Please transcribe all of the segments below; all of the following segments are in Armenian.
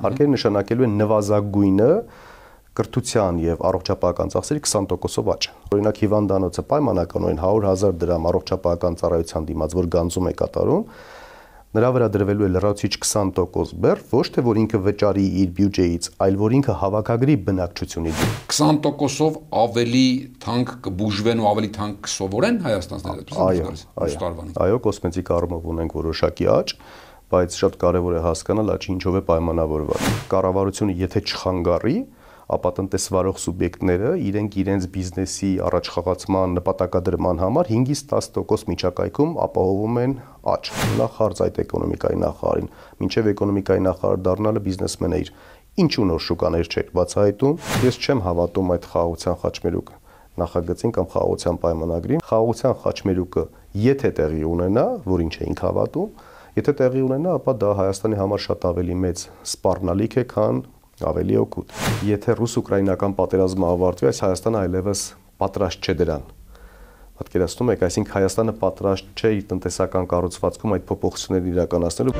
Հարկերը նշանակելու են նվազագույնը կրթության եւ առողջապահական ծախսերի 20%-ով աճ։ Օրինակ հիվանդանոցը պայմանականորեն 100,000 դրամ առողջապահական ծառայության դիմաց, որ գանձում է կատարում, նրա վրա դրվելու է լրացուցիչ 20% բեռ, ոչ թե որ ինքը վճարի իր բյուջեից, այլ որ ինքը հավաքագրի բնակչությունից։ 20%-ով ավելի թանկ կբուժվեն ու ավելի թանկ կսովորեն Հայաստանից։ Այո, կոսմետիկ առումով ունենք որոշակի աճ, բայց շատ կարևոր է հասկանալ աճը ինչով է պայմանավորված։ Կառավարությունը եթե չխանգարի, ապա տնտեսվարող սուբյեկտները իրենց բիզնեսի առաջխաղացման նպատակադրման համար 5-ից 10% միջակայքում ապահովում են աճ։ Նախ հարց այդ էկոնոմիկայի նախարարին, մինչև էկոնոմիկայի նախարար դառնալը բիզնեսմենը իր ինչու նոր շուկաներ չէր բացահայտում։ Ես չեմ հավատում այդ խաղաղության խաչմերուկը նախագծին կամ խաղաղության պայմանագրին։ Խաղաղության խաչմերուկը եթե տեղի ունենա, որ ինչ էինք հավատում, եթե տեղի ունենա, ապա դա Հայաստանի համար շատ ավելի մեծ սպառնալիք է, քան ավելի օգուտ։ Եթե ռուս-ուկրաինական պատերազմը ավարտվի, այս Հայաստանը այլևս պատրաստ չէ դրան։ Պատկերացնում եք, այսինքն Հայաստանը պատրաստ չէ իր տնտեսական կառուցվածքում այդ փոփոխությունները իրականացնելու։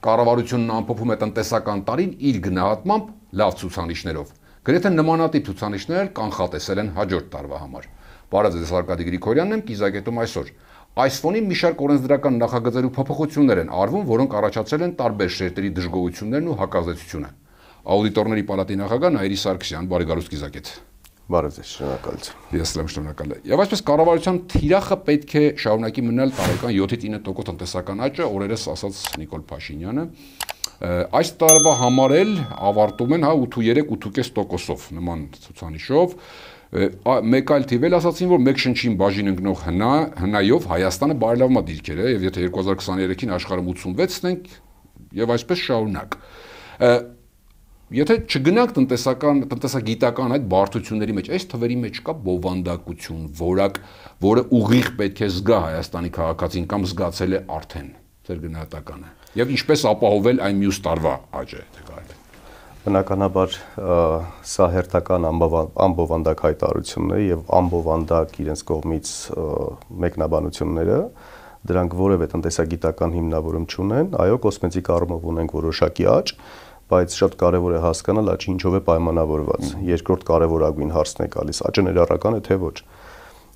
Կառավարությունն ամփոփում է տնտեսական տարին իր գնահատմամբ լավ ցուցանիշներով։ Գրեթե նմանատիպ ցուցանիշներ կանխատեսել են հաջորդ տարվա համար։ Բարև ձեզ, Արկադի Գրիգորյանն եմ, կիզակետում այսօր։ Այս ֆոնին մի շարք օրենսդրական նախագծեր ու փոփոխություններ են արվում, որոնք առաջացել են տարբեր շերտերի դժգոհություններն ու հակազդեցությունը։ Աուդիտորների պալատի նախագահ Նաիրի Սարգսյան, բարի գալուստ կիզակետ։ Բարև ձեզ, շնորհակալություն։ Ես եմ շնորհակալ։ Եվ այսպես կառավարության թիրախը պետք է շարունակի մնալ տարեկան 7-9% տնտեսական աճը, օրերս ասաց Նիկոլ Փաշինյանը։ Այս տարվա համար էլ ավարտում են 8.3-8.5%-ով նման ցուցանիշով։ Մեկ այլ թիվ էլ ասացին, որ մեկ շնչին բաժին ընկնող հնայով Հայաստանը բարելավումա դիրքերը, եւ եթե 2023-ին աշխարհում 86-ն ենք եւ այսպես շարունակ։ Եթե չգնանք տնտեսագիտական այդ բարդությունների մեջ, այս թվերի մեջ կա բովանդակություն, որակ, որը ուղիղ պետք է զգա Հայաստանի քաղաքացին կամ զգացել է արդեն ձեր գնահատականը։ Եվ ինչպես ապահովել այն մյուս տարվա աճը, թե կարելի։ Բնականաբար սա հերթական անբովանդակ հայտարարությունն է եւ անբովանդակ իրենց կողմից մեկնաբանությունները, դրանք որևէ տնտեսագիտական հիմնավորում չունեն։ Այո, կոսմետիկ առումով ունենք որոշակի աճ, բայց շատ կարևոր է հասկանալ աճը ինչով է պայմանավորված։ Երկրորդ կարևորագույն հարցն է գալիս, աճը ներառական է թե ոչ։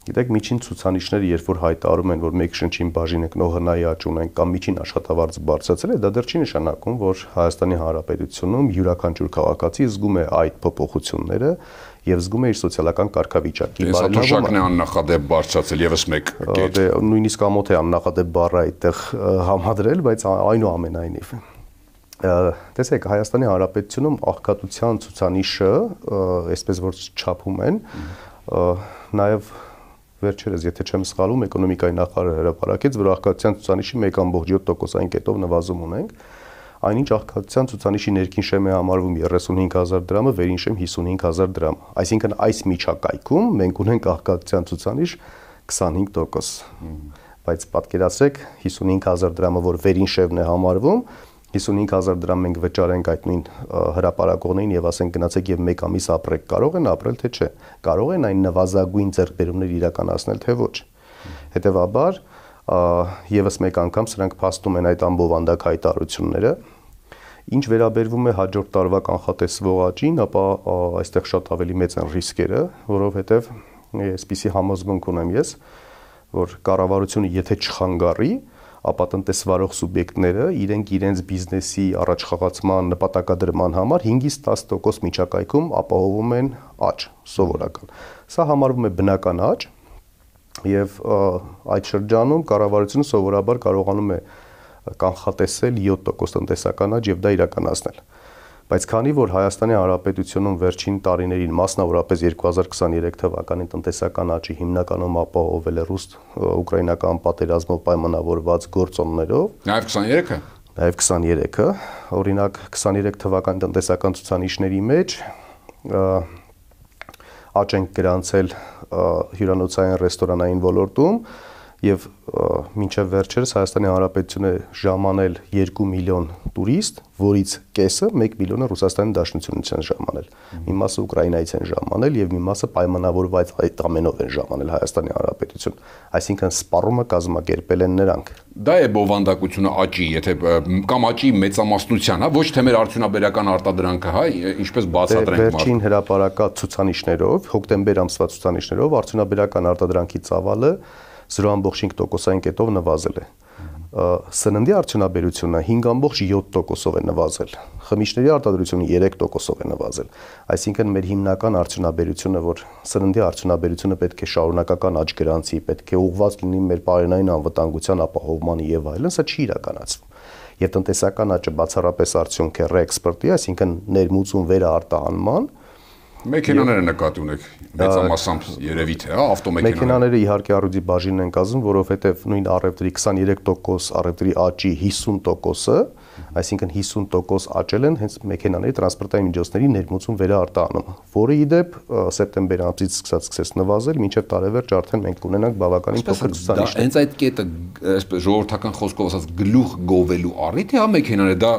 Գիտեք, միջին ցուցանիշները, երբ որ հայտարարում են, որ մեկ շնչին բաժին ընկնող հնայի աճ ունեն կամ միջին աշխատավարձը բարձրացել է, դա դեռ չի նշանակում, որ Հայաստանի Հանրապետությունում յուրաքանչյուր քաղաքացի զգում է այդ փոփոխությունները եւ զգում է իր սոցիալական կարգավիճակի բարելավումը։ Դա աննախադեպ բարձրացել եւս մեկ կետ։ Նույնիսկ ամոթ է աննախադեպ բառը այդտեղ համադրել, բայց այնուամենայնիվ տեսեք, Հայաստանի Հանրապետությունում աղքատության ցուցանիշը, այսպես որ չափում են, նաեւ վերջերս, եթե չեմ սխալվում, էկոնոմիկայի նախարարը հրապարակեց, որ աղքատության ցուցանիշի 1.7%-ային կետով նվազում ունենք, այնինչ աղքատության ցուցանիշի ներքին շեմ է համարվում 35,000 դրամը, վերին շեմ 55,000 դրամ։ Այսինքն այս միջակայքում մենք ունենք աղքատության ցուցանիշ 25%։ Բայց պատկերացրեք 55,000 դրամը, որ վերին շեմն է համարվում, 55,000 դրամ մենք վճարենք այդ նույն հրապարակողներին եւ ասենք գնացեք եւ մեկ ամիս ապրեք, կարող են ապրել թե չէ, կարող են այն նվազագույն ձեռքբերումներ իրականացնել թե ոչ։ Հետեւաբար եւս մեկ անգամ սրանք փաստում են այդ անբովանդակ հայտարարությունները։ Ինչ վերաբերվում է հաջորդ տարվա կանխատեսվող աճին, ապա այստեղ շատ ավելի մեծ են ռիսկերը, որովհետեւ այսպիսի համոզմունք ունեմ ես, որ կառավարությունը եթե չխանգարի, ապա տնտեսվարող սուբյեկտները իրենց բիզնեսի առաջխաղացման նպատակադրման համար 5-ից 10% միջակայքում ապահովում են աճ, սովորական։ Սա համարվում է բնական աճ եւ այդ շրջանում կառավարությունը սովորաբար կարողանում է կանխատեսել 7% տնտեսական աճ եւ դա իրականացնել։ Բայց քանի որ Հայաստանի Հանրապետությունում վերջին տարիներին, մասնավորապես 2023 թվականին տնտեսական աճի հիմնականում ապահովել է ռուս-ուկրաինական պատերազմով պայմանավորված գործոններով, նաև 23-ը, Նաև 23-ը, օրինակ 23 թվականի տնտեսական ցուցանիշների մեջ աճ ենք գրանցել հյուրանոցային ռեստորանային ոլորտում, եւ մինչեւ վերջերս Հայաստանի Հանրապետությունը ժամանել 2 միլիոն տուրիստ, որից կեսը 1 միլիոնը Ռուսաստանի Դաշնությունից են ժամանել։ Մի մասը Ուկրաինայից են ժամանել եւ մի մասը պայմանավորված այդ ամենով են ժամանել Հայաստանի Հանրապետություն։ Այսինքն սպառումը կազմակերպել են նրանք։ Դա է բովանդակությունը աճի, եթե կամ աճի մեծամասնության, հա, ոչ թե մեր արդյունաբերական արտադրանքը, հա, ինչպես բացատրենք մարդ։ Վերջին հրապարակած ցուցանիշներով, հոկտեմբեր ամսվա ցուցանիշներով արդյունաբերական արտադրանքի ծավալը 0.5%-ային կետով նվազել է։ Սննդի արդյունաբերությունը 5.7%-ով է նվազել։ Խմիչքների արտադրությունը 3%-ով է նվազել։ Այսինքն մեր հիմնական արդյունաբերությունը, որ սննդի արդյունաբերությունը պետք է շարունակական աճ գրանցի, պետք է ուղղված լինի մեր պարենային անվտանգության ապահովմանը եւ այլն, սա չի իրականացվում։ Եվ տնտեսական աճը բացառապես արդյունք է ռեէքսպորտի, այսինքն ներմուծում վերարտահանման։ Մեքենաները նկատի ունեք մեծամասամբ երևի թե, հա, ավտոմեքենաները։ Մեքենաները իհարկե առյուծի բաժինն են կազմում, որովհետև նույն առևտրի 23% առևտրի աճի 50%-ը, այսինքն 50% աճել են հենց մեքենաների տրանսպորտային միջոցների ներմուծում վերարտահանումը, որը ի դեպ սեպտեմբեր ամսից սկսեց նվազել, մինչև տարեվերջ արդեն մենք կունենանք բավականին փոքր ցուցանիշներ։ Հենց այդ կետը, այսպես ժողովրդական խոսքով ասած, գլուխ գովելու առիթ է, հա, մեքենաները, դա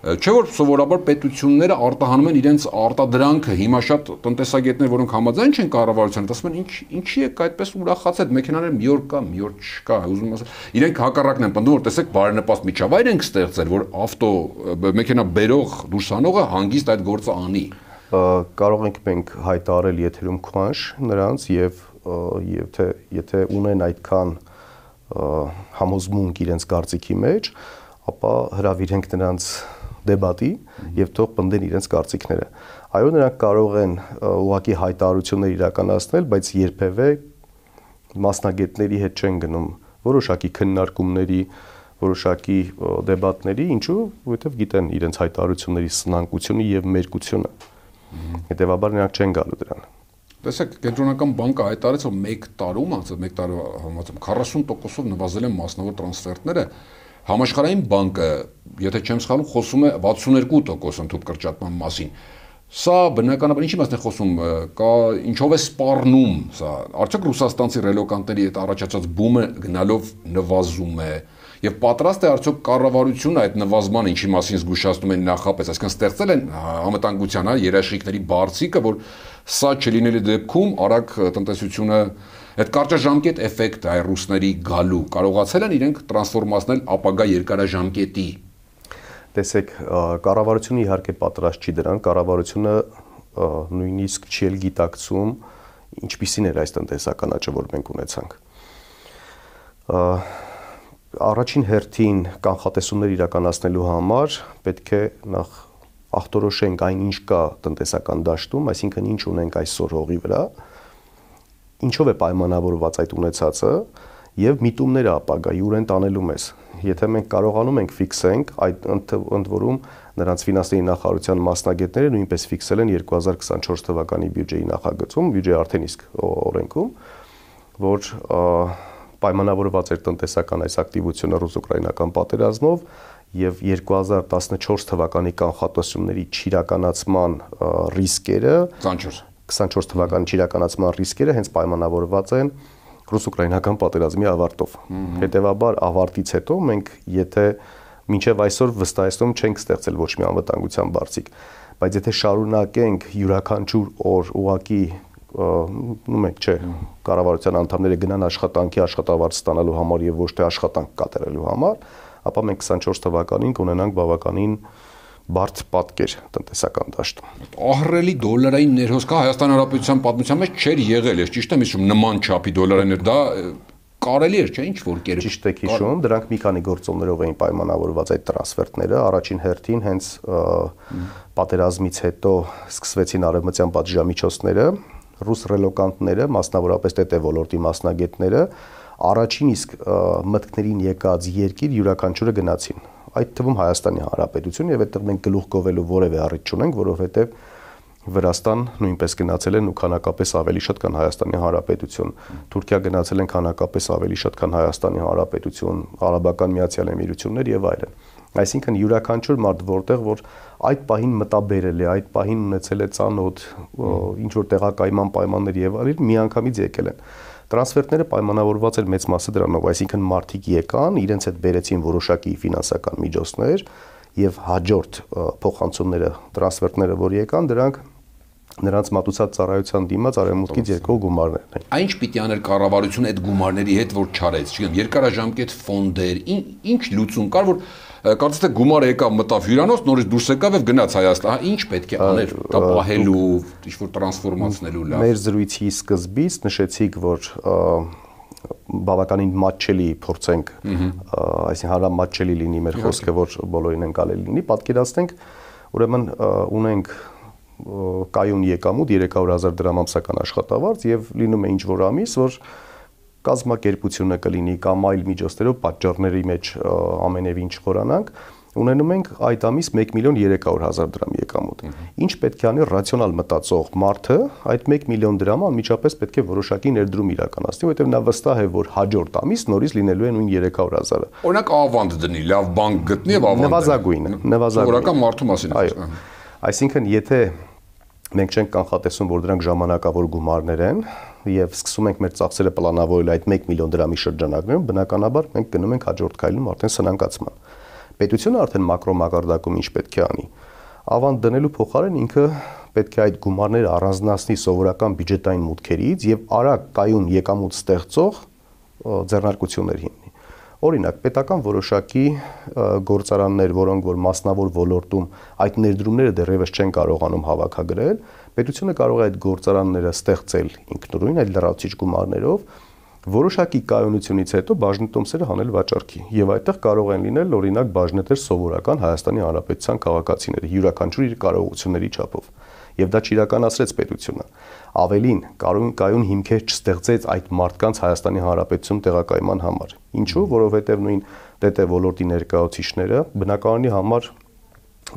չէ որ սովորաբար պետությունները արտահանում են իրենց արտադրանքը, հիմա շատ տնտեսագետներ, որոնք համաձայն չեն կառավարության, ասում են ինչի եք այդպես ուրախացած, մեքենաները մի օր կա, մի օր չկա, ուզում ասել, իրենք հակառակն են պնդում, որ տեսեք բարենպաստ միջավայր ենք ստեղծել, որ մեքենա բերող դուրս անողը հանգիստ այդ գործը անի։ Կարող ենք մենք հայտարարել եթերում քվանշ նրանց եւ եթե ունեն այդքան համոզմունք իրենց կարծիքի մեջ, ապա հրավիրենք նրանց դեբատի եւ թող պնդեն իրենց կարծիքները։ Այո, նրանք կարող են ուղղակի հայտարարություններ իրականացնել, բայց երբևէ մասնագետների հետ չեն գնում որոշակի քննարկումների, որոշակի դեբատների, ինչու, որովհետեւ գիտեն իրենց հայտարարությունների սնանկությունը եւ մերկությունը։ Հետևաբար նրանք չեն գալու դրան։ Տեսեք, Կենտրոնական բանկը հայտարարեց, որ 1 տարում, ասած 1 տարվա համաձայն 40%-ով նվազել են մասնավոր տրանսֆերտները։ Համաշխարհային բանկը, եթե չեմ սխալվում, խոսում է 62% ընդհանուր կրճատման մասին։ Սա բնականաբար ինչի մասն է խոսում, կա ինչով է սպառնում սա։ Արդյոք ռուսաստանցի ռելոկանտների հետ առաջացած բումը գնալով նվազում է եւ պատրաստ է արդյոք կառավարությունը այդ նվազման ինչի մասին զգուշացնում են նախապես, այսինքն ստեղծել են անվտանգության, հա, երաշխիքների բարձիկը, որ սա չլինելու դեպքում արագ տնտեսությունը այդ կարճաժամկետ էֆեկտը այ ռուսների գալու կարողացել են իրենք տրանսֆորմացնել ապագա երկարաժամկետի։ Տեսեք, կառավարությունը իհարկե պատրաստ չի դրան, կառավարությունը նույնիսկ չի էլ գիտակցում ինչպիսին էր այս տնտեսական աճը, որ մենք ունեցանք։ Առաջին հերթին կանխատեսումներ իրականացնելու համար պետք է նախ ախտորոշենք այն ինչ կա տնտեսական դաշտում, այսինքն ինչ ունենք այսօր հողի վրա, ինչով է պայմանավորված այդ ունեցածը եւ միտումները ապագայի ուր են տանելու մեզ։ Եթե մենք կարողանում ենք ֆիքսենք, այդ ընդ որում նրանց ֆինանսների նախարարության մասնագետները նույնպես ֆիքսել են 2024 թվականի բյուջեի նախագծում, բյուջեի արդեն իսկ օրենքում, որ պայմանավորված էր տնտեսական այս ակտիվությունը ռուս-ուկրաինական պատերազմով եւ 2014 թվականի կանխատեսումների չիրականացման ռիսկերը 24 թվականի չիրականացման ռիսկերը հենց պայմանավորված են ռուս-ուկրաինական պատերազմի ավարտով։ Հետևաբար ավարտից հետո մենք եթե մինչև այսօր վստահեցնում չենք ստեղծել ոչ մի անվտանգության բարձիկ, բայց եթե շարունակենք յուրաքանչյուր օր ուղակի նույնիսկ չէ, կառավարության անդամները գնան աշխատանքի աշխատավարձ ստանալու համար եւ ոչ թե աշխատանք կատարելու համար, ապա մենք 24 թվականին կունենանք բավականին բարդ պատկեր տնտեսական դաշտում։ Ահռելի դոլարային ներհոսքը Հայաստան Հանրապետության պատմության մեջ չէր եղել, ես ճիշտ եմ հիշում, նման չափի դոլարային դա կարելի էր, չէ՞, ինչ որ կերպ։ Ճիշտ եք հիշում, դրանք մի քանի գործոններով էին պայմանավորված այդ տրանսֆերտները, առաջին հերթին հենց պատերազմից հետո սկսվեցին արևմտյան պատժամիջոցները, ռուս ռելոկանտները, մասնավորապես ՏՏ ոլորտի մասնագետները առաջին իսկ մտքներին եկած երկիր յուրաքանչյուրը գնացին։ Այդ թվում Հայաստանի Հանրապետություն եւ այդտեղ մենք գլուխ գովելու որևէ առիթ չունենք, որովհետեւ Վրաստան նույնպես գնացել են ու քանակապես ավելի շատ քան Հայաստանի Հանրապետություն, Թուրքիա գնացել են քանակապես ավելի շատ քան Հայաստանի Հանրապետություն, Արաբական Միացյալ Էմիրություններ եւ այլն։ Այսինքն յուրաքանչյուր մարդ որտեղ որ այդ պահին մտաբերել է, այդ պահին ունեցել է ծանոթ ինչ որ տեղակայման պայմաններ եւ այլն, միանգամից եկել են։ Տրանսֆերտները պայմանավորված էր մեծ մասը դրանով, այսինքն մարդիկ եկան, իրենց հետ բերեցին որոշակի ֆինանսական միջոցներ եւ հաջորդ փոխանցումները, տրանսֆերտները, որ եկան, դրանք նրանց մատուցած ծառայության դիմաց արևմուտքից եկող գումարներն են։ Ինչ պիտի աներ կառավարությունը այդ գումարների հետ որ չարեց, չգիտեմ, երկարաժամկետ ֆոնդեր, ինչ լուծում կար, որ կարծես թե գումարը եկավ մտավ հյուրանոց, նորից դուրս եկավ եւ գնաց Հայաստան, ինչ պետք է աներ, դա պահելու, ինչ-որ տրանսֆորմացնելու լավ։ Մեր զրույցի սկզբից նշեցիք, որ բավականին մատչելի փորձենք, այսինքն հարամատչելի լինի մեր խոսքը, որ բոլորին ընկալելի լինի, պատկերացնենք, ուրեմն ունենք կայուն եկամուտ 300,000 դրամ ամսական աշխատավարձ եւ լինում է ինչ որ ամիս, որ կազմակերպությունը կլինի կամ այլ միջոցներով պատճառների մեջ ամենևին չխորանանք, ունենում ենք այդ ամիս 1,300,000 դրամ եկամուտ։ Ինչ պետք է անի ռացիոնալ մտածող մարդը, այդ 1 միլիոն դրամը անմիջապես պետք է որոշակի ներդրում իրականացնի, որովհետեւ նա վստահ է, որ հաջորդ ամիս նորից լինելու է նույն 300,000-ը։ Օրինակ ավանդ դնի, լավ բանկ գտնի եւ ավանդ։ Նվազագույնը, Սովորական մարդու մասին է խոսքը։ Այսինքն, եթե մենք չենք կանխատեսում, որ դրանք ժամանակավոր գումարներ են եւ սկսում ենք մեր ծախսերը պլանավորել այդ 1 միլիոն դրամի շրջանակներում, բնականաբար մենք գնում ենք հաջորդ քայլում արդեն սնանկացման։ Պետությունը արդեն մակրո մակարդակում ինչ պետք է անի։ Ավանդ դնելու փոխարեն ինքը պետք է այդ գումարները առանձնացնի սովորական բյուջետային մուտքերից եւ արագ կայուն եկամուտ ստեղծող ձեռնարկություններ հիմնի։ Օրինակ, պետական որոշակի գործարաններ, որոնք որ մասնավոր ոլորտում այդ ներդրումները դեռևս չեն կարողանում հավաքագրել, պետությունը կարող է այդ գործարանները ստեղծել ինքնուրույն այդ լրացուցիչ գումարներով, որոշակի կայունությունից հետո բաժնետոմսերը հանել վաճառքի եւ այդտեղ կարող են լինել օրինակ բաժնետեր սովորական Հայաստանի Հանրապետության քաղաքացիները յուրաքանչյուր իր կարողությունների չափով եւ դա չիրականացրեց պետությունը ավելին կայուն հիմքեր չստեղծեց այդ մարդկանց Հայաստանի Հանրապետություն տեղակայման համար ինչու որովհետեւ նույն ՏՏ ոլորտի ներկայացուցիչները բնակարանի համար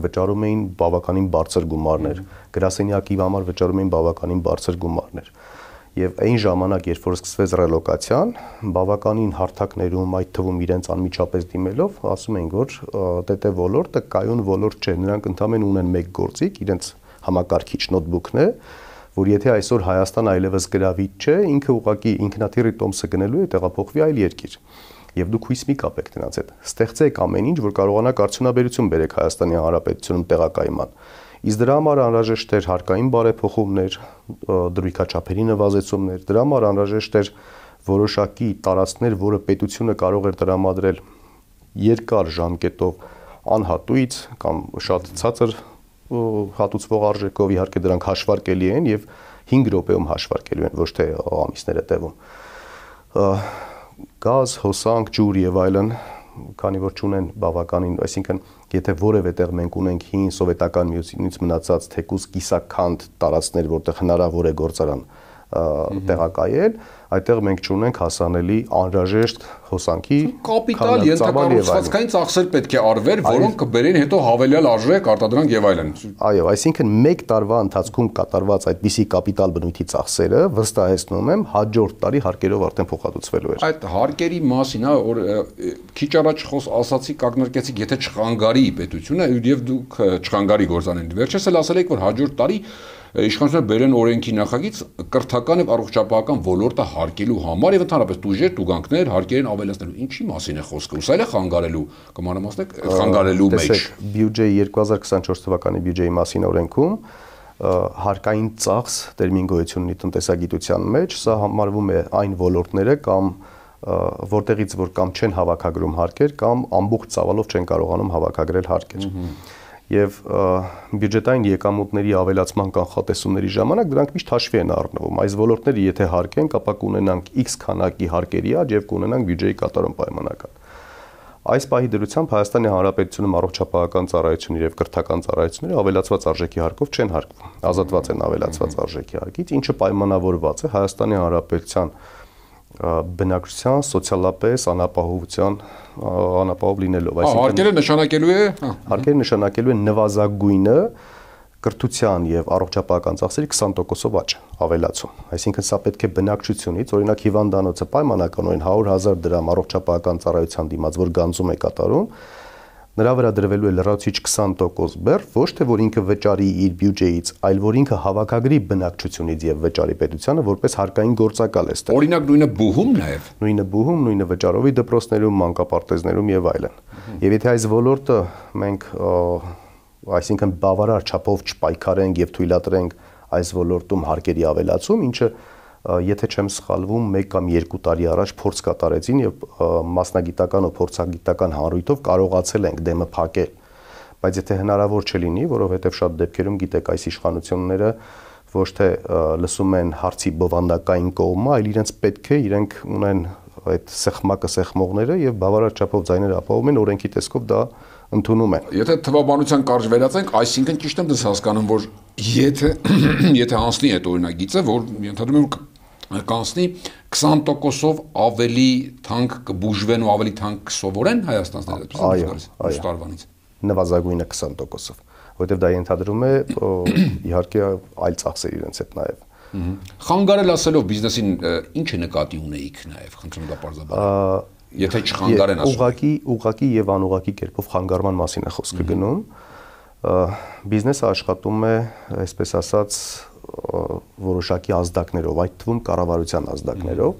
վճարում էին բավականին բարձր գումարներ գրասենյակի համար վճարում էին բավականին բարձր գումարներ Եվ այն ժամանակ, երբ որ սկսվեց ռելոկացիան, բավականին հարթակներում, այդ թվում իրենց անմիջապես դիմելով, ասում են, որ ՏՏ ոլորտը կայուն ոլորտ չէ, նրանք ընդհանրապես ունեն մեկ գործիք, իրենց համակարգիչ նոթբուքն է, որ եթե այսօր Հայաստան այլևս գրավիչ չէ, ինքը ուղղակի ինքնաթիռի տոմսը գնելու է տեղափոխվի այլ երկիր։ Եվ դուք հույս մի կապեք նրանց հետ։ Ստեղծեք ամեն ինչ, որ կարողանաք արդյունաբերություն բերեք Հայաստանի Հանրապետությունում տեղակայման։ Իսկ դրա համար անհրաժեշտ էր հարկային բարեփոխումներ, դրույքաչափերի նվազեցումներ, դրա համար անհրաժեշտ էր որոշակի տարածքներ, որը պետությունը կարող էր տրամադրել երկար ժամկետով անհատույց կամ շատ ցածր հատուցվող արժեքով, իհարկե դրանք հաշվարկելի են եւ 5 րոպեում հաշվարկելու են, ոչ թե ամիսներ հետևում։ Գազ, հոսանք, ջուր եւ այլն, քանի որ չունեն բավականին, այսինքն եթե որևէ տեղ մենք ունենք հին սովետական միությունից մնացած թեկուզ կիսաքանդ տարածքներ, որտեղ հնարավոր է գործարան տեղակայել, այդտեղ մենք չունենք հասանելի անհրաժեշտ հոսանքի կապիտալ ենթակառուցվածքային ծախսեր պետք է արվեր, որոնք կբերեն հետո հավելյալ արժեք, արտադրանք եւ այլն։ Այո, այսինքն մեկ տարվա ընթացքում կատարված այդպիսի կապիտալ բնույթի ծախսերը վստահեցնում եմ հաջորդ տարի հարկերով արդեն փոխհատուցվելու էր։ Այդ հարկերի մասին, որ քիչ առաջ ասացի կակնարկեցիք, եթե չխանգարի պետությունը եւ դուք չխանգարի գործանեն։ Վերջերս էլ ասել եք, որ հաջորդ տարի իշխանությունը բերեն օրենքի նախագիծ կրթական եւ առողջապահական ոլորտը հարկելու համար եւ ընդհանրապես տուժեր, տուգանքներ հարկերին ավելացնելու։ Ինչի մասին է խոսքը։ Ուսել է խանգարելու, կմանրամասնեք, խանգարելու մեջ։ Բյուջեի 2024 թվականի բյուջեի մասին օրենքում հարկային ծախս տերմին գոյություն ունի տնտեսագիտության մեջ, սա համարվում է այն ոլորտները կամ որտեղից որ կամ չեն հավաքագրում հարկեր կամ ամբողջ ծավալով չեն կարողանում հավաքագրել հարկեր։ Եվ բյուջետային եկամուտների ավելացման կանխատեսումների ժամանակ դրանք միշտ հաշվի են առնվում։ Այս ոլորտները եթե հարկենք, ապա կունենանք X քանակի հարկերի աճ եւ կունենանք բյուջեի կատարում պայմանական։ Այս պահի դրությամբ Հայաստանի Հանրապետությունում առողջապահական ծառայությունները եւ կրթական ծառայությունները ավելացված արժեքի հարկով չեն հարկվում։ Ազատված են ավելացված արժեքի հարկից, ինչը պայմանավորված է Հայաստանի Հանրապետության բնակչության սոցիալապես անապահով լինելով, հարկերը նշանակելու է հարկերը նշանակելու է նվազագույնը կրթության եւ առողջապահական ծախսերի 20%-ով աճ ավելացում, այսինքն սա պետք է բնակչությունից, օրինակ հիվանդանոցը պայմանականորեն 100,000 դրամ առողջապահական ծառայության դիմաց, որ գանձում է կատարում, նրա վրա դրվելու է լրացուցիչ 20% բեռ, ոչ թե որ ինքը վճարի իր բյուջեից, այլ որ ինքը հավաքագրի բնակչությունից եւ վճարի պետությանը որպես հարկային գործակալ է ստեղ։ Օրինակ նույնը բուհում նաեւ։ Նույնը բուհում, նույնը վճարովի դպրոցներում, մանկապարտեզներում եւ այլն։ Եվ եթե այս ոլորտը մենք այսինքն բավարար չափով չպայքարենք եւ թույլատրենք այս ոլորտում հարկերի ավելացում, ինչը եթե չեմ սխալվում 1 կամ 2 տարի առաջ փորձ կատարեցին եւ մասնագիտական ու փորձագիտական հանրույթով կարողացել ենք դեմը փակել, բայց եթե հնարավոր չլինի, որովհետեւ շատ դեպքերում գիտեք այս իշխանությունները ոչ թե լսում են հարցի բովանդակային կողմը, այլ իրենց պետք է իրենք ունեն այդ սեղմակը սեղմողները եւ բավարար չափով ձայներ ապահովում են, օրենքի տեսքով դա ընդունում են։ Եթե թվաբանության կարճ վերածենք, այսինքն ճիշտ եմ դες հասկանում, որ եթե անցնի այդ օրինագիծը, որ ենթադրում եմ կանցնի 20%-ով ավելի թանկ կբուժվեն ու ավելի թանկ կսովորեն հայաստանցիները, այդպես տարվանից։ Նվազագույնը 20%-ով, որովհետեւ դա ենթադրում է իհարկե այլ ծախսեր իրենց հետ նաեւ։ Խանգարել ասելով բիզնեսին ինչ է նկատի ունեիք նաեւ, խնդրում դա բարձրաբանել։ Եթե չխանգարեն ասում։ Ուղղակի եւ անուղղակի կերպով խանգարման մասին է խոսքը գնում։ Բիզնեսը աշխատում է, այսպես ասած, որոշակի ազդակներով, այդ թվում կառավարության ազդակներով։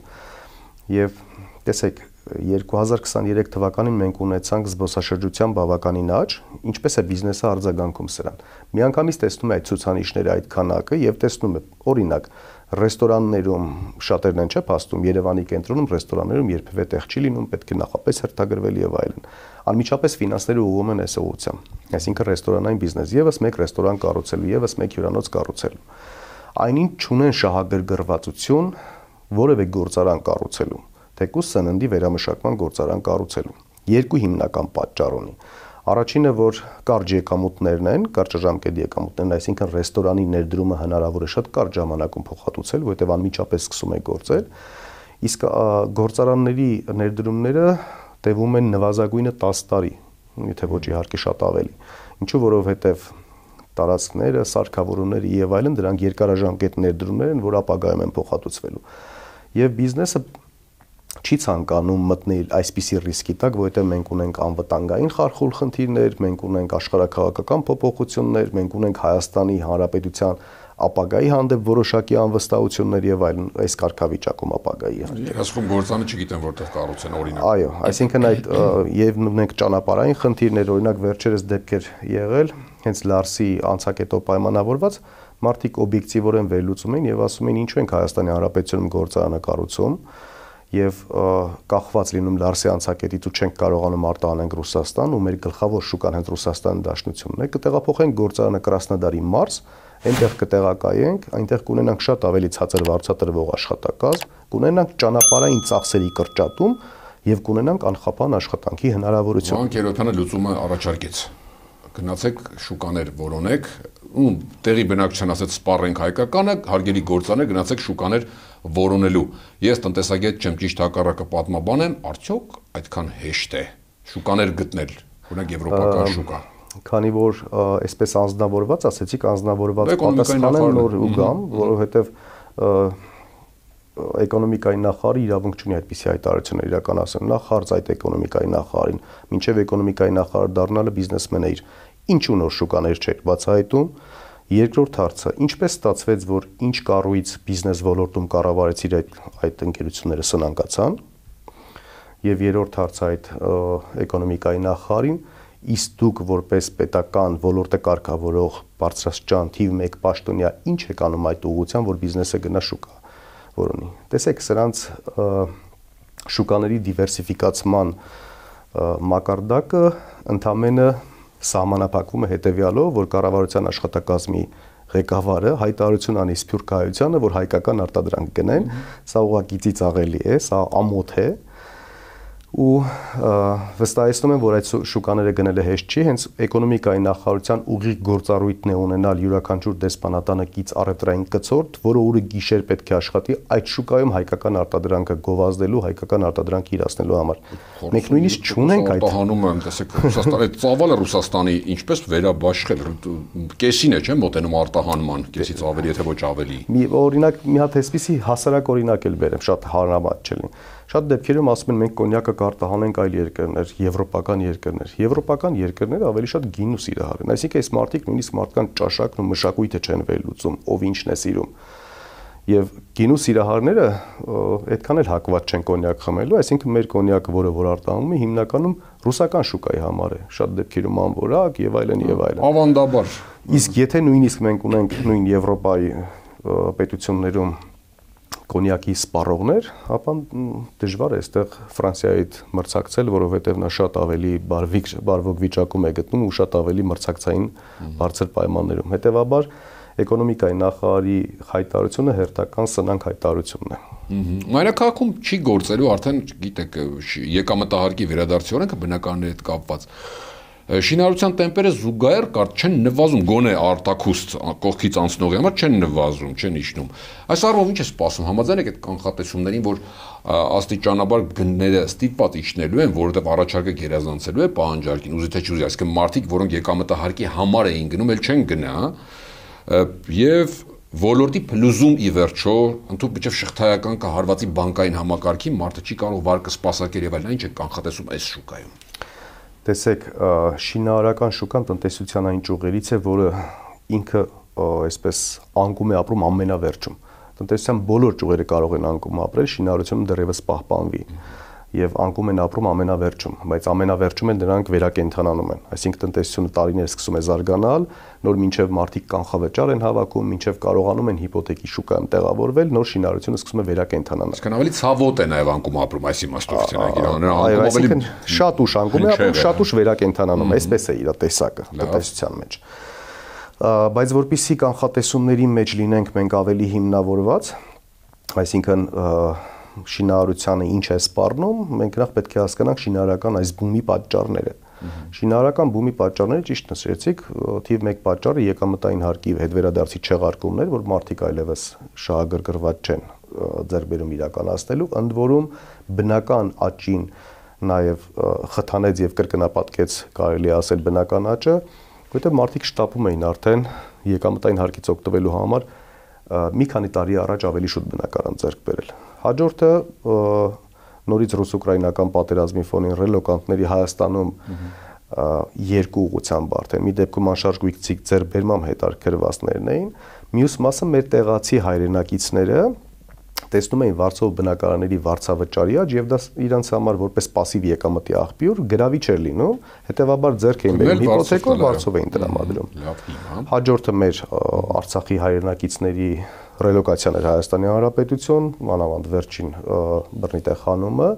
Եվ տեսեք, 2023 թվականին մենք ունեցանք զբոսաշրջության բավականին աճ, ինչպես է բիզնեսը արձագանքում սրան։ Միանգամից տեսնում է այդ ցուցանիշները, այդ քանակը եւ տեսնում է, օրինակ, ռեստորաններում շատերն են չէ փաստում, Երևանի կենտրոնում ռեստորաններում երբևէ տեղ չի լինում, պետք է նախապես հերթագրվել եւ այլն։ Անմիջապես ֆինանսները ուղղում են այս ուղղությամբ, այսինքն ռեստորանային բիզնես, եւս մեկ ռեստորան կառուցելու, եւս մեկ հյուրանոց կառուցելու։ Այնին չունեն շահագրգռվածություն որևէ գործարան կառուցելու, թեկուզ սննդի վերամշակման գործարան կառուցելու։ Երկու հիմնական պատճառ ունի։ Առաջինը, որ կարճ եկամուտներն են, կարճաժամկետ եկամուտներն, այսինքն ռեստորանի ներդրումը հնարավոր է շատ կարճ ժամանակում փոխհատուցել, որովհետև անմիջապես սկսում է գործել, իսկ գործարանների ներդրումները տևում են նվազագույնը 10 տարի, եթե ոչ իհարկե շատ ավելի։ Ինչու, որովհետև տարածքները, սարքավորումները եւ այլն դրանք երկարաժամկետ ներդրումներ են, որ ապագայում են փոխհատուցվելու։ Եվ բիզնեսը չի ցանկանում մտնել այսպիսի ռիսկի տակ, որովհետև մենք ունենք անվտանգային խարխուլ խնդիրներ, մենք ունենք աշխարհաքաղաքական փոփոխություններ, մենք ունենք Հայաստանի Հանրապետության ապագայի հանդեպ որոշակի անվստահություններ եւ այլն, այս կարգավիճակում ապագայի հանդեպ։ Ասում գործանը չգիտեմ որտեղ կառուցեն օրինակ։ Այո, այսինքն այդ եւ ունենք ճանապարհային խնդիրներ, օրինակ վերջերս դեպքեր եղել, հենց Լարսի անցակետով պայմանավորված մարդիկ օբյեկտիվորեն վերլուծում են եւ ասում են ինչու ենք Հայաստանի Հանրապետությունում գործարանը կառուցում եւ կախված լինում Լարսի անցակետից ու չենք կարողանում արտահանենք Ռուսաստան ու մեր գլխավոր շուկան հենց Ռուսաստանի Դաշնությունն է, կտեղափոխենք գործարանը Կրասնոդարի մարզ, այնտեղ կտեղակայենք, այնտեղ կունենանք շատ ավելի ցածր վարձատրվող աշխատակազմ, կունենանք ճանապարհային ծախսերի կրճատում եւ կունենանք անխափան աշխատանքի հնարավորություն։ Վանք Երոթյանը լուծումը առաջարկեց։ Գնացեք շուկաներ որոնեք, ու տեղի բնակչության ասած սպառենք հայկականը, հարգելի գործաներ, գնացեք շուկաներ որոնելու։ Ես տնտեսագետ չեմ, ճիշտ հակառակը պատմաբան եմ, արդյոք այդքան հեշտ է շուկաներ գտնել, օրինակ եվրոպական շուկա։ Քանի որ այսպես անձնավորված, ասեցիք անձնավորված պատասխանեն նոր ու գամ, որովհետև էկոնոմիկայի նախարարը իրավունք չունի այդպիսի հայտարարություններ իրականացնել։ Նախ հարց այդ էկոնոմիկայի նախարարին, մինչև էկոնոմիկայի նախարար դառնալը բիզնեսմենը իր ինչու նոր շուկաներ չէր բացահայտում։ Երկրորդ հարցը, ինչպես ստացվեց, որ ինչ կառույց բիզնես ոլորտում կառավարեցիր այդ ընկերությունները սնանկացան։ Եվ երրորդ հարցը այդ էկոնոմիկայի նախարարին, իսկ դուք որպես պետական ոլորտը կարգավորող բարձրաստիճան թիվ 1 պաշտոնյա ինչ եք անում այդ ուղղությամբ, որ բիզնեսը գնա շուկա որոնի։ Տեսեք, սրանց շուկաների դիվերսիֆիկացման մակարդակը ընդամենը սահմանափակվում է հետևյալով, որ կառավարության աշխատակազմի ղեկավարը հայտարարություն անի Սփյուռք Հայությանը, որ հայկական արտադրանք գնեն, սա ուղղակի ծիծաղելի է, սա ամոթ է, ու վստահեցնում եմ, որ այդ շուկաները գնելը հեշտ չի, հենց էկոնոմիկայի նախարարության ուղիղ գործառույթն է ունենալ յուրաքանչյուր դեսպանատանը կից առևտրային կցորդ, որը օրը գիշեր պետք է աշխատի այդ շուկայում հայկական արտադրանքը գովազդելու, հայկական արտադրանքը իրացնելու համար։ Մենք նույնիսկ չունենք այդ արտահանումը, տեսեք, Ռուսաստանի ծավալը Ռուսաստանի ինչպես վերաբաշխել, կեսին է, չէ՞, մոտենում արտահանման, կեսից ավելի, եթե ոչ ավելի։ Օրինակ մի հատ այսպիսի հասարակ օրինակ էլ բերեմ, շատ հարմար չէ լինի։ Շատ դեպքերում ասում են մենք կոնյակը կարտահանենք այլ երկրներ, եվրոպական երկրներ։ Եվրոպական երկրները ավելի շատ գին ու սիրահար են։ Այսինքն այս մարդիկ նույնիսկ մարդկան ճաշակն ու մշակույթը չեն վերլուծում, ով ինչն է սիրում։ Եվ գին ու սիրահարները այդքան էլ հակված չեն կոնյակ խմելու, այսինքն մեր կոնյակը, որ արտահանում է, հիմնականում ռուսական շուկայի համար է, շատ դեպքերում անորակ եւ այլն եւ այլն։ Ավանդաբար։ Իսկ եթե նույնիսկ մենք ունենք նույն Եվրոպայի պետություններում կոնյակի սպառողներ, ապա դժվար է այստեղ Ֆրանսիայի հետ մրցակցել, որովհետև նա շատ ավելի բարվոք վիճակում է գտնում ու շատ ավելի մրցակցային բարձր պայմաններում։ Հետևաբար էկոնոմիկայի նախարարի հայտարարությունը հերթական սնանկ հայտարարությունն է։ Մայրաքաղաքում չի գործելու արդեն, գիտեք, եկամտահարկի վերադարձի օրենքը բնականների հետ կապված։ Շինարարության տեմպերը զուգահեռ չեն նվազում, գոնե արտաքուստ կողքից անցնողի համար չեն նվազում, չեն իջնում։ Այս առումով ինչ է սպասում, համաձայն եք այդ կանխատեսումներին, որ աստիճանաբար գնները ստիպված իջնելու են, որովհետև առաջարկը գերազանցելու է պահանջարկին, ուզի թե չուզի, այսինքն մարդիկ, որոնք եկամտահարկի համար էին գնում, էլ չեն գնա, եւ ոլորտի փլուզում ի վերջո, ընդհանուր միջև շղթայական կահարվածի բանկային համակարգի մարդը չի կարող վարկը սպասարկել եւ այլն, ինչ է կանխատեսում այս շուկայում։ Տեսեք, շինարարական շուկան տնտեսության այն ճյուղերից է, որը ինքը այսպես անկում է ապրում ամենավերջում։ Տնտեսության բոլոր ճյուղերը կարող են անկում ապրել, շինարարությունը դեռևս պահպանվի եւ անկում են ապրում ամենավերջում, բայց ամենավերջում են նրանք վերակենդանանում են։ Այսինքն տնտեսությունը տարիներ սկսում է զարգանալ, նոր մինչև մարդիկ կանխավճար են հավաքում, մինչև կարողանում են հիպոթեկի շուկայում տեղավորվել, նոր շինարարությունը սկսում է վերակենդանանալ։ Այսինքն ավելի ցավոտ է նաեւ անկում ապրում այս իմաստով, այսինքն շատ ուշ անկում է ապրում, շատ ուշ վերակենդանանում, այսպես է իր տեսակը տնտեսության մեջ։ Բայց որpիսի կանխատեսումների մեջ լինենք մենք ավելի հիմնավորված, այսինքն շինարարությանը ինչ է սպառնում, մենք նախ պետք է հասկանանք շինարարական այս բումի պատճառները։ Շինարարական բումի պատճառները ճիշտ նշեցիք, թիվ 1 պատճառը եկամտային հարկի հետ վերադարձի չեղարկումներ, որ մարդիկ այլևս շահագրգռված չեն ձեռք բերում իրականացնելու, ընդ որում բնական աճին նաև խթանեց եւ կրկնապատկեց, կարելի է ասել, բնական աճը, որովհետեւ մարդիկ շտապում էին արդեն եկամտային հարկից օգտվելու համար մի քանի տարի առաջ ավելի շուտ բնակարան ձեռք բերել։ Հաջորդը նորից ռուս-ուկրաինական պատերազմի ֆոնին ռելոկանտների Հայաստանում երկու ուղղությամբ արդեն մի դեպքում անշարժ գույքցիկ ձեռբերմամբ հետարկրվածներն էին, մյուս մասը մեր տեղացի հայրենակիցները տեսնում էին վարձով բնակարանների վարձավճարի աճ եւ դա իրանց համար որպես пассив եկամտի աղբյուր գրավիչ էր լինում, հետեւաբար ձեռք էին բերում հիպոթեկով վարձով էին տրամադրում։ Հաջորդը մեր Արցախի հայրենակիցների ռելոկացիան էր Հայաստանի Հանրապետություն, մանավանդ վերջին բռնի խանումը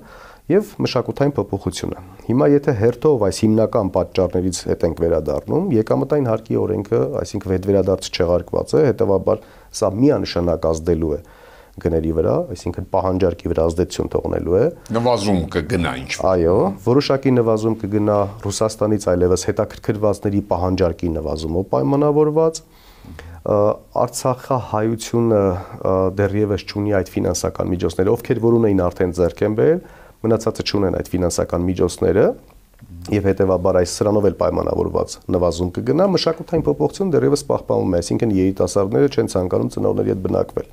եւ մշակութային փոփոխությունը։ Հիմա եթե հերթով այս հիմնական պատճառներից հետ ենք վերադառնում, եկամտային հարկի օրենքը, այսինքն վերադարձ չեղարկված է, հետեւաբար սա միանշանակ ազդելու է գների վրա, այսինքն պահանջարկի վրա ազդեցություն թողնելու է։ Նվազում կգնա ինչ։ Այո, որոշակի նվազում կգնա Ռուսաստանից այլևս հետաքրքրվածների պահանջարկի նվազումով պայմանավորված։ Արցախահայությունը դեռևս չունի այդ ֆինանսական միջոցները, ովքեր որ ունեին արդեն ձեռք են բերել, մնացածը չունեն այդ ֆինանսական միջոցները եւ հետեւաբար այս սրանով էլ պայմանավորված նվազում կգնա, մշակութային փոփոխություն դեռևս պահպանվում է, այսինքն երիտասարդները չեն ցանկանում ծնողների հետ բնակվել։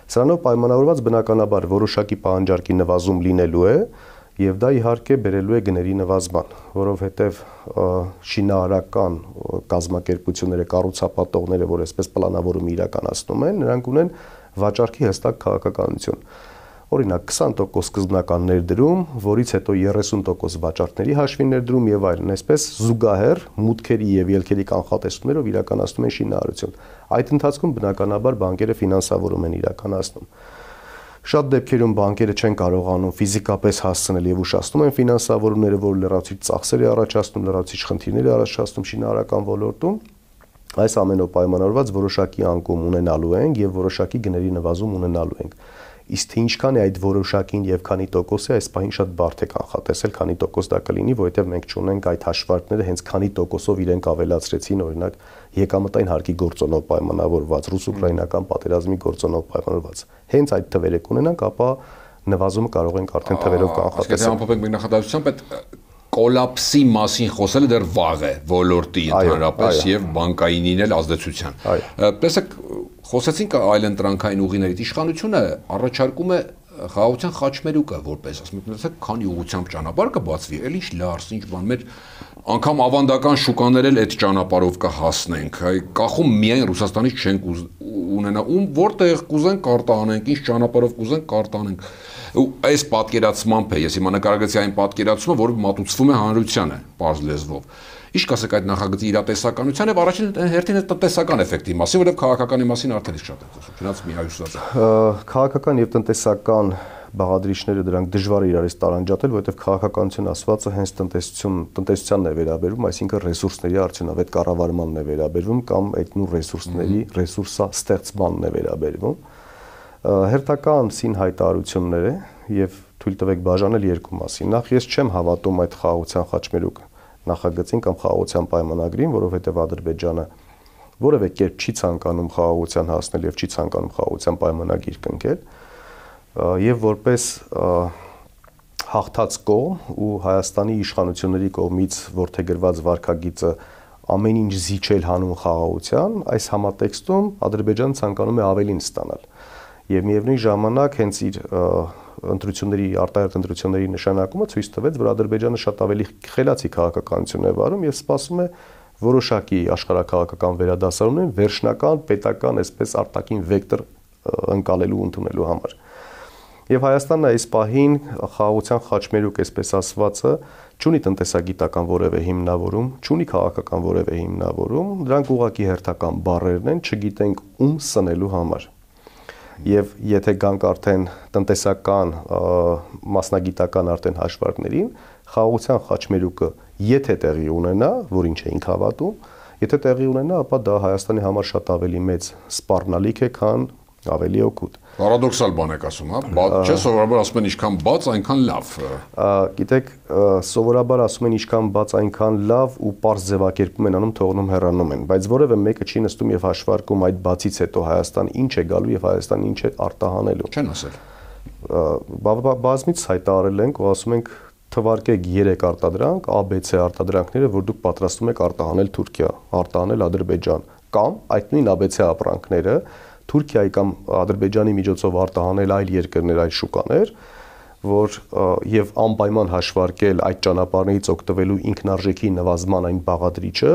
Սրանով պայմանավորված բնականաբար որոշակի պահանջարկի նվազում լինելու է եւ դա իհարկե բերելու է գների նվազման, որովհետեւ շինարարական կազմակերպությունները, կառուցապատողները, որ այսպես պլանավորում իրականացնում են, նրանք ունեն վաճառքի հստակ քաղաքականություն։ Օրինակ 20% սկզբնական ներդրում, որից հետո 30% վաճառքների հաշվի ներդրում եւ այլն, այսպես զուգահեռ մուտքերի եւ ելքերի կանխատեսումներով իրականացնում են շինարարություն։ Այդ ընթացքում բնականաբար բանկերը ֆինանսավորում են իրականացնում։ Շատ դեպքերում բանկերը չեն կարողանում ֆիզիկապես հասցնել եւ ուշացնում են ֆինանսավորումները, որ լրացուցիչ ծախսեր է առաջացնում, լրացուցիչ խնդիրներ է առաջացնում շինարարական ոլորտում։ Այս ամենով պայմանավորված որոշակի անկում ունենալու ենք եւ որոշակի գների նվազում ունենալու ենք։ Իսկ թե ինչքան է այդ որոշակին եւ քանի տոկոս է, այս պահին շատ բարդ է կանխատեսել, քանի տոկոս դա կլինի, որովհետեւ մենք չունենք այդ հաշվարկները, հենց քանի տոկոսով իրենք ավելացրեցին, օրինակ եկամտային հարկի գործոնով պայմանավորված, ռուս-ուկրաինական պատերազմի գործոնով պայմանավորված։ Հենց այդ թվերը կունենանք, ապա նվազումը կարող ենք արդեն թվերով կանխատեսել։ Եթե ամփոփենք մեր նախադասությամբ, այդ կոլապսի մասին խոսելը դեռ վաղ է ոլորտի ընդհանրապես եւ բանկայինին էլ ազդեցության։ Տեսեք, խոսեցինք այլընտրանքային ուղիներից, իշխանությունը առաջարկում է խաղաղության խաչմերուկը որպես ասում եք, քանի ուղղությամբ ճանապարհ կբացվի, էլ ինչ լարս, ինչ բան մեր անգամ ավանդական շուկաներ էլ այդ ճանապարհով կհասնենք, կախում միայն Ռուսաստանից չենք ունենա, որտեղ կուզենք կարտահանենք, ինչ ճանապարհով կուզենք կարտահանենք։ Այս պատկերացմամբ է, ես հիմա նկարագրեցի այն պատկերացումը, որը մատուցվում է հանրությանը, պարզ լեզվով։ Ինչ կասեք այդ նախագծի իրատեսականության եւ առաջին հերթին այդ տնտեսական էֆեկտի մասին, որովհետեւ քաղաքականի մասին արդեն իսկ շատ է խոսում, չնայած մի հայուսած։ Քաղաքական եւ տնտեսական բաղադրիչները դրանք դժվար է իրարից տարանջատել, որովհետեւ քաղաքականություն ասվածը հենց տնտեսությանն է վերաբերում, այսինքն ռեսուրսների արդյունավետ կառավարմանն է վերաբերվում կամ այդ նույն ռեսուրսների ռեսուրսա ստեղծմանն է վերաբերվում։ Հերթական սին հայտարարությունները եւ թույլ տվեք բաժանել երկու մասի։ Նախ ես չեմ հավատում այդ խաղաղության խաչմերուկ նախագծին կամ խաղաղության պայմանագրին, որովհետեւ Ադրբեջանը որևէ կերպ չի ցանկանում խաղաղության հասնել եւ չի ցանկանում խաղաղության պայմանագիր կնքել եւ որպես հաղթած կողմ ու Հայաստանի իշխանությունների կողմից որդեգրված վարքագիծը ամեն ինչ զիջել հանուն խաղաղության, այս համատեքստում Ադրբեջանը ցանկանում է ավելին ստանալ եւ միևնույն ժամանակ հենց իր արտահերթ ընտրությունների նշանակումը ցույց տվեց, որ Ադրբեջանը շատ ավելի խելացի քաղաքականություն է վարում եւ սպասում է որոշակի աշխարհակաղակական վերադասարումներ վերջնական պետական այսպես արտաքին վեկտոր ընկալելու ընդունելու համար։ Եվ Հայաստանն այս պահին խաղաղության խաչմերուկ այսպես ասվածը չունի տնտեսագիտական որևէ հիմնավորում, չունի քաղաքական որևէ հիմնավորում, դրանք ուղղակի հերթական բառերն են, չգիտենք ում սնելու համար։ Եվ եթե գանք արդեն տնտեսական մասնագիտական արդեն հաշվարկներին, խաղաղության խաչմերուկը եթե տեղի ունենա, որին չէինք հավատում, եթե տեղի ունենա, ապա դա Հայաստանի համար շատ ավելի մեծ սպառնալիք է, քան ավելի օգուտ։ Պարադոքսալ բան եք ասում, հա, չէ՞ սովորաբար ասում են ինչքան բաց, այնքան լավ։ Գիտեք, սովորաբար ասում են ինչքան բաց, այնքան լավ ու պարզ ձևակերպում են անում, թողնում հեռանում են, բայց որևէ մեկը չի նստում եւ հաշվարկում այդ բացից հետո Հայաստան ինչ է գալու եւ Հայաստան ինչ է արտահանելու։ Չեն ասել։ Բազմից հայտարարել ենք ու ասում ենք թվարկեք 3 արտադրանք, ABC արտադրանքները, որ դուք պատրաստում եք արտահանել Թուրքիա, արտահանել Ադրբեջան, կամ այդ նույն ABC ապրանքները Թուրքիայի կամ Ադրբեջանի միջոցով արտահանել այլ երկրներ, այլ շուկաներ, որ եւ անպայման հաշվարկել այդ ճանապարհներից օգտվելու ինքնարժեքի նվազման այն բաղադրիչը,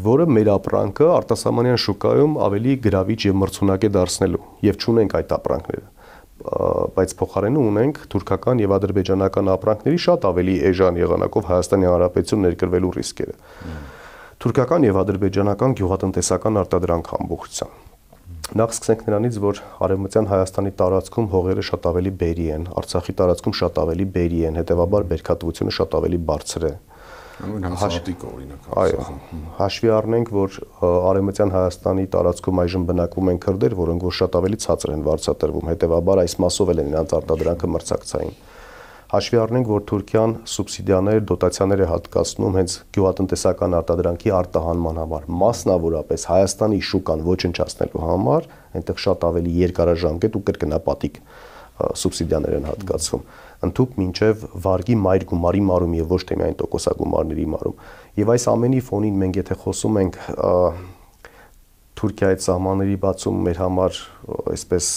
որը մեր ապրանքը արտասահմանյան շուկայում ավելի գրավիչ եւ մրցունակ է դարձնելու եւ չունենք այդ ապրանքները, բայց փոխարենը ունենք թուրքական եւ ադրբեջանական ապրանքների շատ ավելի էժան եղանակով Հայաստանի Հանրապետություն ներկրվելու ռիսկերը։ Թուրքական եւ ադրբեջանական գյուղատնտեսական արտադրանք ամբողջությամբ։ Նախ սկսենք նրանից, որ արևմտյան Հայաստանի տարածքում հողերը շատ ավելի բերի են, Արցախի տարածքում շատ ավելի բերի են, հետևաբար բերքատվությունը շատ ավելի բարձր է։ Այո, հաշվի առնենք, որ արևմտյան Հայաստանի տարածքում այժմ բնակվում են քրդեր, որոնք որ շատ ավելի ցածր են վարձատրվում, հետևաբար այս մասով էլ են նրանց արտադրանքը մրցակցային։ Հաշվի առնենք, որ Թուրքիան սուբսիդիաներ, դոտացիաներ է հատկացնում հենց գյուղատնտեսական արտադրանքի արտահանման համար, մասնավորապես Հայաստանի շուկան ոչնչացնելու համար, այնտեղ շատ ավելի երկարաժամկետ ու կրկնապատիկ սուբսիդիաներ են հատկացվում, ընդհուպ մինչև վարկի մայր գումարի մարում եւ ոչ թե միայն տոկոսագումարների մարում։ Եվ այս ամենի ֆոնին մենք եթե խոսում ենք Թուրքիայի սահմանների բացում մեր համար այսպես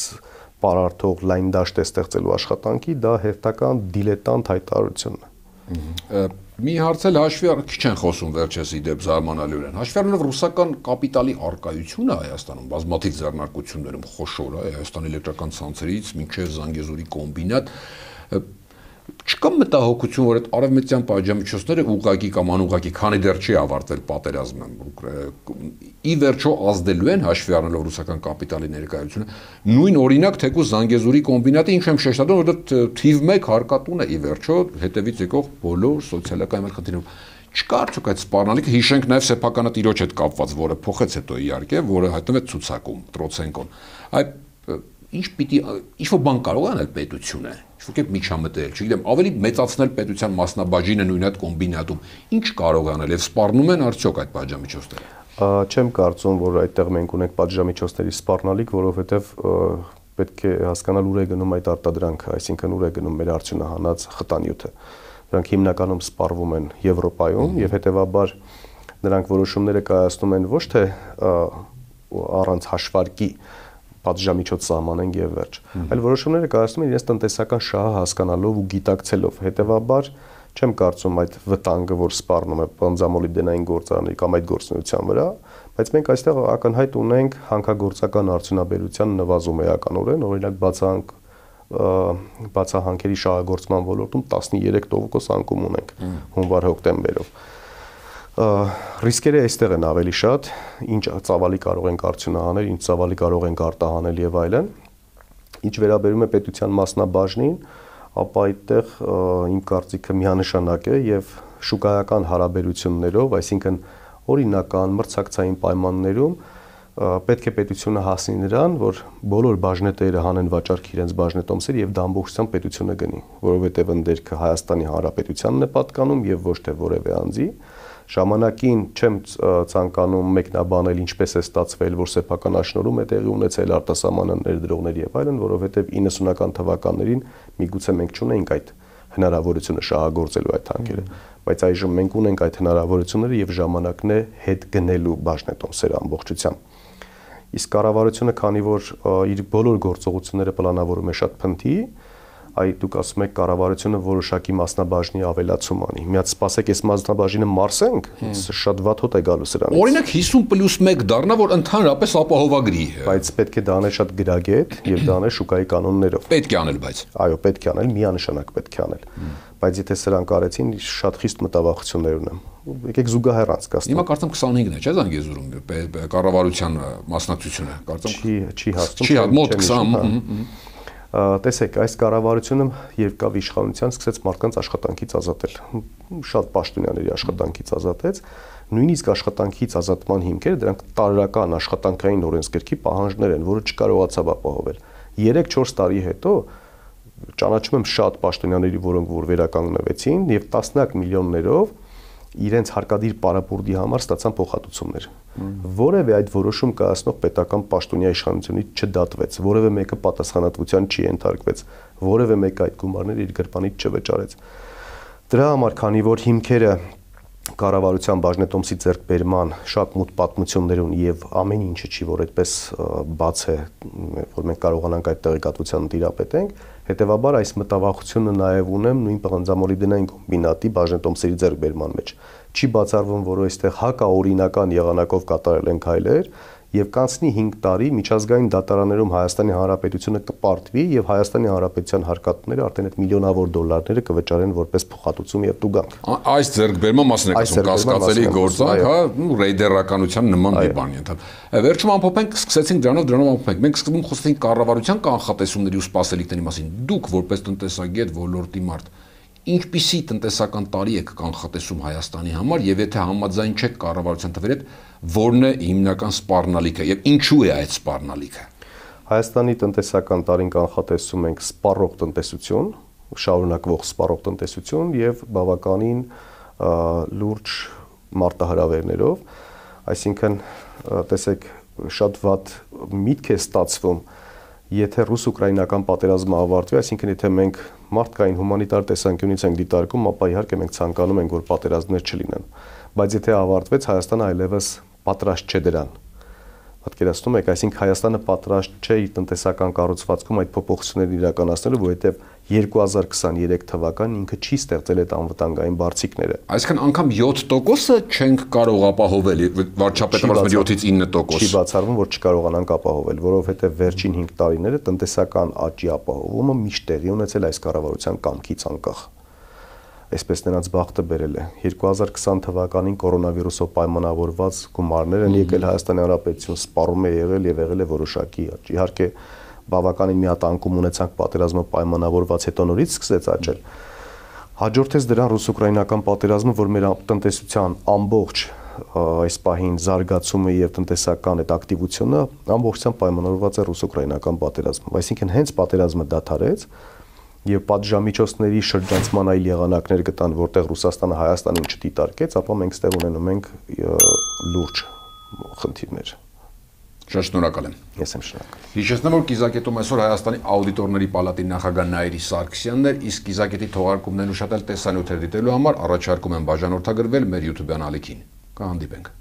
պարարտող լայն դաշտ է ստեղծելու աշխատանքի, դա հերթական դիլետանտ հայտարարությունն է։ Մի հարց էլ հաշվի քիչ են խոսում վերջերս իդեպ զարմանալիորեն։ Հաշվի առնելով ռուսական կապիտալի առկայությունը Հայաստանում, բազմաթիվ ձեռնարկություններում խոշոր է, Հայաստանի էլեկտրական ցանցերից մինչև Զանգեզուրի կոմբինատ, չկա մտահոգություն, որ այդ արևմտյան պատժամիջոցները ուղղակի կամ անուղղակի, քանի դեռ չի ավարտվել պատերազմը, ի վերջո ազդելու են հաշվի առնելով ռուսական կապիտալի ներկայությունը, նույն օրինակ թեկուզ Զանգեզուրի կոմբինատը, ինչ եմ շեշտադրում, որ դա թիվ 1 հարկատուն է ի վերջո հետևից եկող բոլոր սոցիալական խնդիրներով։ Չկա արդյոք այդ սպառնալիքը, հիշենք նաև սեփականատիրոջ հետ կապված, որը փոխեց հետո իհարկե, որը հայտնվեց ցուցակում, Տրոցենկոն։ Այդ ինչ պիտի ինչ-որ բան կարող է անել պետությունը, ինչ-որ կերպ միջամտել, չգիտեմ, ավելի մեծացնել պետության մասնաբաժինը նույն այդ կոմբինատում, ինչ կարող է անել եւ սպառնում են արդյոք այդ պատժամիջոցները։ Չեմ կարծում, որ այդտեղ մենք ունենք պատժամիջոցների սպառնալիք, որովհետեւ պետք է հասկանալ ուր է գնում այդ արտադրանքը, այսինքն ուր է գնում մեր արդյունահանած խտանյութը։ Դրանք հիմնականում սպառվում են Եվրոպայում եւ հետեւաբար նրանք որոշումները կայացնում են ոչ թե առանց հաշվարկի, պատժամիջոց սահմանենք եւ վերջ։ Այլ որոշումները կայացնում են իրենց տնտեսական շահը հասկանալով ու գիտակցելով։ Հետևաբար չեմ կարծում այդ վտանգը, որ սպառնում է բանձամոլիբդենային գործարանների կամ այդ գործունեության վրա, բայց մենք այստեղ ակնհայտ ունենք հանքագործական արդյունաբերության նվազում էականորեն, օրինակ բացահանքերի շահագործման ոլորտում 13% անկում ունենք հունվար-հոկտեմբերով։ Ռիսկերը այստեղ են ավելի շատ, ինչ ծավալի կարող ենք արդյունահանել, ինչ ծավալի կարող ենք արտահանել եւ այլն։ Ինչ վերաբերում է պետության մասնաբաժնին, ապա այդտեղ իմ կարծիքը միանշանակ է եւ շուկայական հարաբերություններով, այսինքն օրինական մրցակցային պայմաններում պետք է պետությունը հասնի նրան, որ բոլոր բաժնետերը հանեն վաճառք իրենց բաժնետոմսեր եւ դա ամբողջությամբ պետությունը գնի, որովհետեւ ընդերքը Հայաստանի Հանրապետությանն է պատկանում եւ ոչ թե որևէ անձի։ Ժամանակին չեմ ցանկանում մեկնաբանել ինչպես է ստացվել, որ սեփական աշնորհում է տեղի ունեցել արտասահմանյան ներդրողների եւ այլն, որովհետեւ 90-ական թվականներին միգուցե մենք չունեինք այդ հնարավորությունը շահագործելու այդ հանքերը, բայց այժմ մենք ունենք այդ հնարավորությունները եւ ժամանակն է հետ գնելու բաժնետոմսերը ամբողջությամբ։ Իսկ կառավարությունը, քանի որ իր բոլոր գործողությունները պլանավորում է շատ փնթի, դուք ասում եք կառավարությունը որոշակի մասնաբաժնի ավելացում անի։ Միած սպասեք, այս մասնաբաժինը մարսենք, շատ վատ հոտ է գալու սրանից։ Օրինակ 50+1 դառնա, որ ընդհանրապես ապահովագրի։ Բայց պետք է դա անել շատ գրագետ եւ դա անել շուկայի կանոններով։ Պետք է անել, բայց։ Այո, պետք է անել, միանշանակ պետք է անել։ Բայց եթե սրանք արեցին, շատ խիստ մտավախություններ ունեմ։ Եկեք զուգահեռ անցկացնենք։ Հիմա կարծեմ 25-ն է, չէ՞ Զանգեզուրում կառավարության մասնակցությունը, կարծեմ։ Չի հասնում։ Չի, մոտ 20։ Տեսեք, այս կառավարությունը երբ կավ իշխանության, սկսեց մարդկանց աշխատանքից ազատել։ Շատ պաշտոնյաների աշխատանքից ազատեց, նույնիսկ աշխատանքից ազատման հիմքերը դրանք տարրական աշխատանքային օրենսգրքի պահանջներ են, որը չկարողացավ ապահովել։ 3-4 տարի հետո ճանաչում եմ շատ պաշտոնյաների, որոնք որ վերականգնվեցին եւ տասնյակ միլիոններով իրենց հարկադիր պարապուրդի համար ստացան փոխհատուցումներ։ Որևէ այդ որոշում կայացնող պետական պաշտոնյա իշխանությունից չդատվեց, որևէ մեկը պատասխանատվության չի ենթարկվեց, որևէ մեկը այդ գումարները իր գրպանից չվճարեց։ Դրա համար, քանի որ հիմքերը կառավարության բաժնետոմսի ձեռքբերման շատ մոտ պատմություններ ունի եւ ամեն ինչը չի, որ այդպես բաց է, որ մենք կարողանանք այդ տեղեկատվությանը տիրապետենք, հետեւաբար այս մտավախությունը նաեւ ունեմ նույն բանձամոլիբդենային կոմբինատի բաժնետոմսերի ձեռքբերման մեջ։ Չի բացառվում, որ այստեղ հակաօրինական եղանակով կատարել են քայլեր եւ կանցնի 5 տարի միջազգային դատարաններում Հայաստանի Հանրապետությունը կպարտվի եւ Հայաստանի Հանրապետության հարկատուները արդեն այդ միլիոնավոր դոլարները կվճարեն որպես փոխհատուցում եւ տուգանք։ Այս ձեռքբերման մասն է ասում կասկածելի գործանք, հա, ռեյդերականության նման մի բան ենթալ։ Վերջում ամփոփենք, սկսեցինք դրանով ամփոփենք։ Մենք սկզբում խոսեցինք կառավարության կանխատեսումների ու սպասելիքների մասին։ Դուք որպես տնտեսագետ, ոլորտի մարդ, ինչպիսի տնտեսական տարի եք կանխատեսում Հայաստանի համար եւ եթե համաձայն չեք կառավարության թվերի հետ, որն է հիմնական սպառնալիքը եւ ինչու է այդ սպառնալիքը։ Հայաստանի տնտեսական տարին կանխատեսում ենք սպառող տնտեսություն, շարունակվող սպառող տնտեսություն եւ բավականին լուրջ մարտահրավերներով, այսինքն տեսեք շատ վատ միտք է ստացվում, եթե ռուս-ուկրաինական պատերազմը ավարտվի, այսինքն եթե մենք մարդկային հումանիտար տեսանկյունից ենք դիտարկում, ապա իհարկե մենք ցանկանում ենք, որ պատերազմներ չլինեն, բայց եթե ավարտվեց, Հայաստանը այլևս պատրաստ չէ դրան։ Պատկերացնում եք, այսինքն Հայաստանը պատրաստ չէ իր տնտեսական կառուցվածքում այդ փոփոխությունները իրականացնելու, որովհետև 2023 թվականին ինքը չի ստեղծել այդ անվտանգային բարձիկները։ Այսինքն անգամ 7%-ը չենք կարող ապահովել, վարչապետը ասում է 7-ից 9%։ Չի բացառվում, որ չկարողանանք ապահովել, որովհետև վերջին 5 տարիները տնտեսական աճի ապահովումը միշտ տեղի ունեցել այս կառավարության կամքից անկախ։ Այսպես նրանց բախտը բերել է։ 2020 թվականին կորոնավիրուսով պայմանավորված գումարներ են եկել Հայաստանի Հանրապետություն, սպառում է եղել եւ եղել է որոշակի աճ։ Իհարկե բավականին մի հատ անկում ունեցանք պատերազմը պայմանավորված հետո նորից սկսեց աճել։ Հաջորդեց դրան ռուս-ուկրաինական պատերազմը, որ մեր տնտեսության ամբողջ այս պահին զարգացումը եւ տնտեսական այդ ակտիվությունը ամբողջությամբ պայմանավորված է ռուս-ուկրաինական պատերազմով։ Այսինքն հենց պատերազմը դադարեց եւ պատժամիջոցների շրջանցման այլ եղանակներ գտան, որտեղ Ռուսաստանը Հայաստանին չդիտարկեց, ապա մենք ստեղ ունենում ենք լուրջ խնդիրներ։ Շատ շնորհակալ եմ։ Ես եմ շնորհակալ։ Հիշեցնեմ, որ կիզակետում այսօր Հայաստանի աուդիտորների պալատի նախագահ Նաիրի Սարգսյանն էր, իսկ կիզակետի թողարկումներն ուշադրել տեսանյութեր դիտելու համար առաջարկում եմ բաժանորդագրվել մեր YouTube-յան ալիքին։ Կհանդիպենք։